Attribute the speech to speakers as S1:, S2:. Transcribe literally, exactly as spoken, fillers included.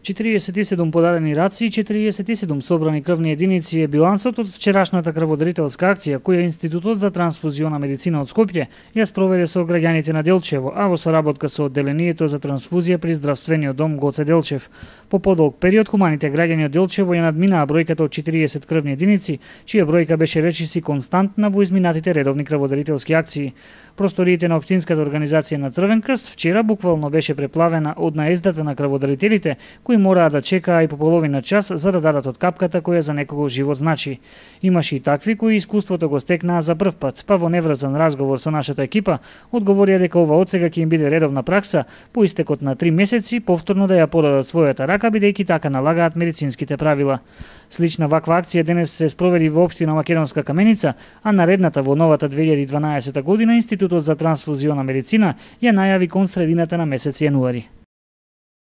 S1: четириесет и седум подадени раци и четириесет и седум собрани крвни единици е билансот од вчерашната крводарителска акција која Институтот за трансфузиона медицина од Скопје ја спроведе со граѓаните на Делчево, а во соработка со одделението за трансфузија при здравствениот дом Гоце Делчев. По подолг период хуманите граѓани од Делчево ја надминаа бројката од четириесет крвни единици, чија бројка беше речиси константна во изминатите редовни крводарителски акции. Просториите на општинската организација на Црвен крст вчера буквално беше преплавена од наездата на крводарителите, кои мораа да чекаа и по половина час за да дадат од капката која за некого живот значи. Имаше и такви кои искуството го стекнаа за прв пат, па во неврзан разговор со нашата екипа одговорија дека ова одсега ќе им биде редовна пракса по истекот на три месеци повторно да ја подадат својата рака бидејќи така налагаат медицинските правила. Слична ваква акција денес се спроведи во општина Македонска Каменица, а наредната во новата две илјади и дванаесета година Институтот за трансфузиона медицина ја најави кон средината на месец јануари.